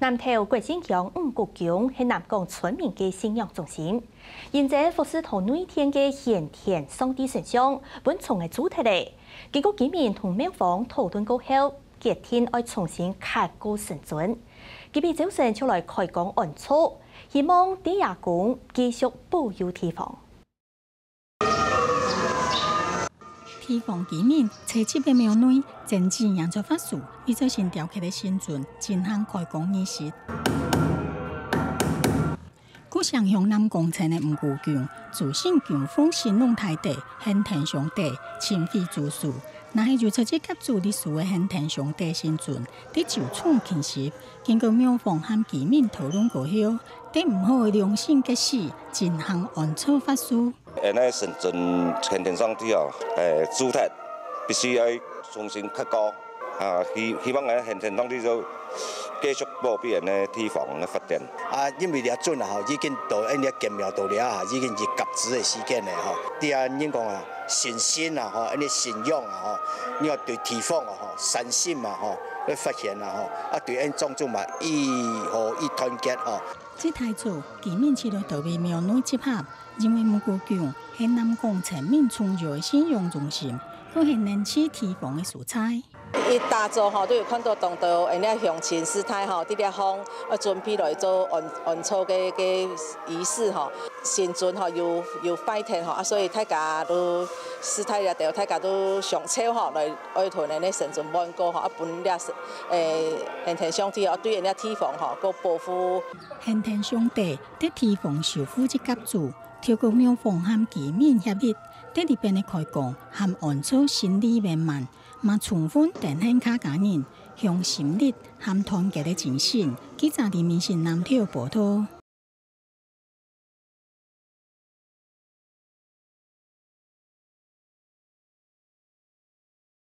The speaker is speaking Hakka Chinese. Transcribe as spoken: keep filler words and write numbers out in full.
南投國姓鄉五穀宮係南港村民个信仰中心，因這服侍到內殿个玄天上帝神像，分蟲仔蛀忒咧。經過居民同廟方討論過後，決定愛重新刻過神尊。今晡朝晨就來開光安坐，希望地爺公繼續保佑地方。 地方居民在這个廟內，整整營造法事，為著新雕刻个神尊進行開光儀式。故鄉鄉南港村个五穀宮，祖先供奉神農大帝、玄天上帝、清水祖師，若係有出自甲子歷史个玄天上帝神尊，得就重勤習。經過廟方和居民討論過後，得毋好良心个事，進行安坐法事。 𫣆个神尊玄天上帝哦，誒，蛀忒，必須愛重新刻過。啊，希，希望𫣆个玄天上帝就繼續保庇𫣆个地方个發展。啊，因為這陣啊，吼，已經到𫣆个建廟到這啊，已經是甲子个時間咧，吼。對啊，人講啊，信心啊，吼，𫣆个信仰啊，吼，你要對地方啊，吼，善心啊，吼，要發現啊，吼，啊，對𫣆莊主嘛，以和以團結，吼。這大早，居民就來到位廟內集合， 因為五穀宮係南港村民重要个信仰中心，又係聯繫地方个所在。一大早吼，都有看到當多𫣆个鄉親師太吼，佇這項，呃，準備來做安，安坐个，个儀式吼。神尊吼，有，有拜天吼，啊，所以大家都，師太這兜，大家都上晝吼，來愛同𫣆个神尊問過吼，啊，分這，誒，玄天上帝吼，對𫣆个地方吼，過保護。玄天上帝 在地方守護這甲子，透過廟方和居民協力，在這片个開光和安坐心理圓滿，嘛充分展現客家人向心力和團結个精神。記者李明信南投報導。